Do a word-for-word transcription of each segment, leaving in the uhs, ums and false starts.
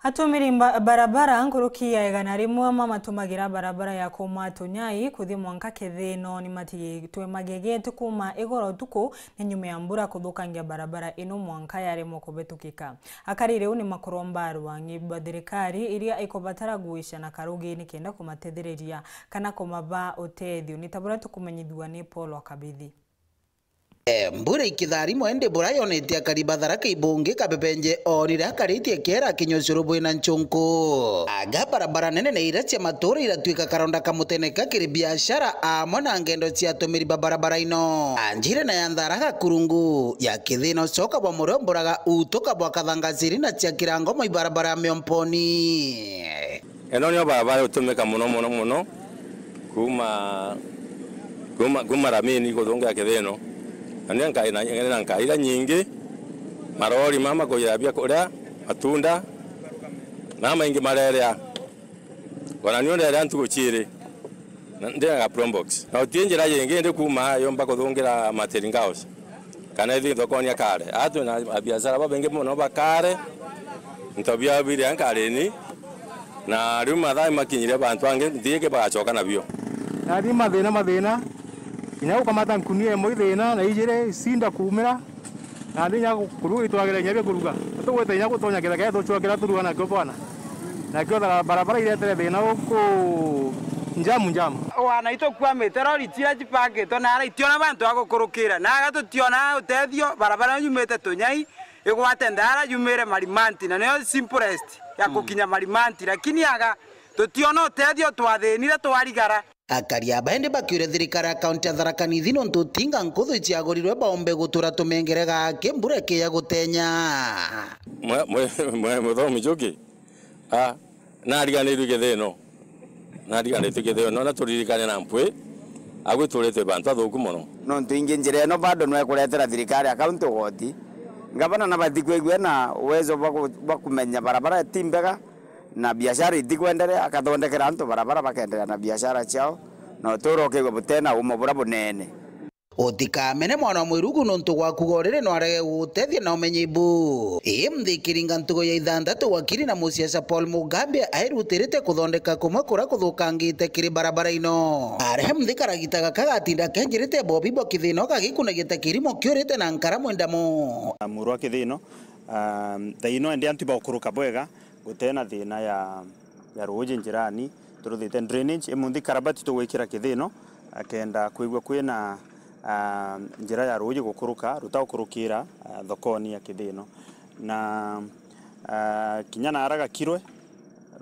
Atumiri mba-, barabara nkuruki ya igana rimwe mamatumagira barabara ya kuuma Tunyai kuthi mwanka Kithino ni matigitwe magegete kuuma igoro utuku ni nyuma ya mbura kuthukangia barabara ino mwanka yaremwa kubitukika. Akari riu ni makuromba arwangi ba thirikari iria ikubatara guica na karugi nikenda kumatethiriria kana kumaba utethio. Ni ta buria tukumenyithua ni Paul wa Kabithi. E, mbura ikitharimwa indi bura yonete akari ba Tharaka Ibungi Kabebenje onire akaritie kiera kinya ucuru bwina nchunku. Aga barabara nene na iria cia matura iratuika karonda kamuteneka kiri biashara amwe na ngendo cia atumiri ba barabara ino. Anjire na ya Nthara Gakurungu, ya Kithino coka bwa murio mburaga utuka bwa Kathangaciri na cia Kirango mwa ibarabara ya Miomponi. Ino nio barabara itumika muno, muno, muno, kuuma, kuuma, kuuma Ramini kuthungira Kithino. Na nio nka-, na, na nkaira nyingi, marori mama kuira biakuria, matunda, na maingi marerea. Ona nio nderea ntuku ciiri, na ndina ga Probox. Na uti njira yingi ndi kuuma yomba kuthungira Materinga House. Kana ithi thokoni akare. Aa twina abiashara babaingi mono bakare, into biao biri ankareni, na riu mathaa makinyire bantu bangi nthigi bagacoka nabio. Nathi mathina, mathina, kinya gukamata nkunia imwe ithina na ijiri icinda kuumira, na thinya kuruga itwagire inya bia kuruga. Tugwite inya gutonya kithaka tucua kiria turuga nakio bwana. Nakio tha-, barabara iretere thina guku njamu njamu. Wana itukwamite, rori ciria cipakitwe nara itiona bantu a gukurukira, naga tutiona utethio, barabara yumite Tunyai igwate Nthara yumire Marimanti, na niyo simplest ya gukinya Marimanti, lakini aga tutiona utethio, twathinire twarigara. Akari aba indi bakiuria thirikari ya kaunti ya Tharaka Nithi nontu tinga nkuthu iciagurirwe baombe gutura tumengere gake mbura ikiya gutenya. Mwe-, mwe-, mwe-, muthomi Njuki, a, nariganirwe Kithino. Nariganirwe Kithino, na turirikane na mpwi, agwiturite bantu athuku mono. Nontu ingi njira ino bado no ikuretera thirikari ya kaunti ugoti. Ngavana nabati kwigua na uwezo bwa ku-, bwa kumenya barabara ti mbega, na biashara itikwenderea, akathondekera antu barabara, bakenderea na biashara ciao, na uturo ukigwa butena umo bura bunene. Utikamene mwana wa mwirugu nontu gwaku goriri no arege gugutethia na umenyi bu. Ii mthikiri nga ntugo ya ithanthatu wakiri na musiasa Paul Mugambi airutirite kuthondeka kumwe kuria kuthukangite kiri barabara ino. Aria mthi karagita gaka gatinda kenjirite bobi bwa kithina gagikunagia ta kirimo kiurite na nkara mwendamo. Murwa kithino, um, thaino ende antu baukuruka bwega, gutena thina ya, ya ruuji njirani, turuthite drainage, imunthi karabati tugwikira kithino, akenda kwigua kwina, ah, njira ya ruuji gukuruka, rutagukurukira, ah, thokoni ya kithino. Na, ah, kinya nara gakirwe,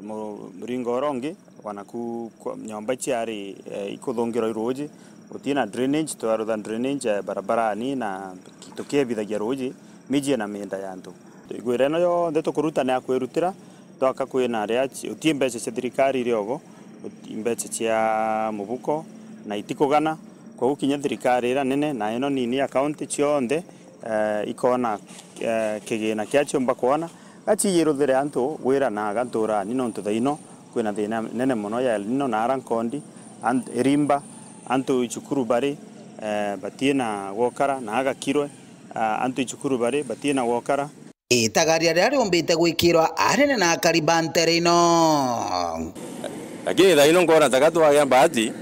mu-, muringo uria ungi, wanaku kwa-, nyomba ciari, eh, ikuthungirwa i ruuji, gutina drainage, twarutha drainage, eh, barabarani na tukiebithagia ruuji. Mijie na mienda ya antu. Igwira ino yonthe tukuruta ni ya kwirutira, twaka kwina ria ci-, uti mbeca cia thirikari iriogo, uti mbeca cia mubuko, na itikugana. Koguo kinya thirikari ira nene na ino nini ya county cionthe, eh, ikona, eh, kigina kia ciumba kwona, gaciiruthire antu gwira na aga nturani, nontu thaino kwina thina nene mono ya El Nino na ara nkondi, ant-, irimba, antu icukuru bari, eh, batina gwokara na agakirwe. Ah, antu icukuru bari batina gwokara. Itagaria riria riumbite gwikirwa anene na akari ba ntere ino. Lakini thaino nkona taka twagia mbati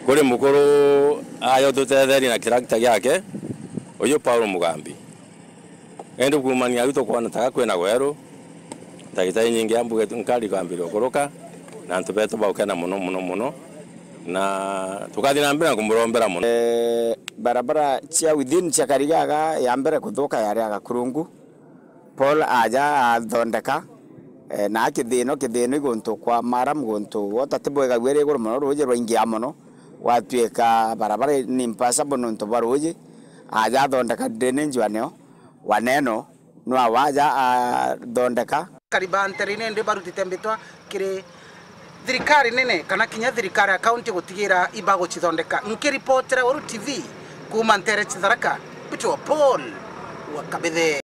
kuri mukuru ayo tutetherie na kirakita giake, uyu Paul Mugambi. Indi kuumania au tukwona taka kwina gweru, ndagitari nyingi ya mbuge nkari kwambiria gukuruka, na antu betu baukena mono, mono, mono, na tukathi na mbere na kumurombera mono. Eh, barabara cia within cia Karigaga ya mbere kuthuka yari ya Gakurungu. Paul aja athondeka, eh, na kithino, kithino i guntu kwa maram, guntu wota ti bwega, gwiri iguru mono, ruuji rwaingia mono, gwatuika barabara ni impassable nontu bwa ruuji. Aja athondeka drainage wa neo, wa neno, nwa waja athondeka. Karibantere nindi barutite mbitwa kiri thirikari nene kana kinya thirikari ya kaunti gutigira ibagucithondeka. Nkiripotera Weru T V kuuma ntere cia Tharaka, mbitwa Paul wa Kabithe.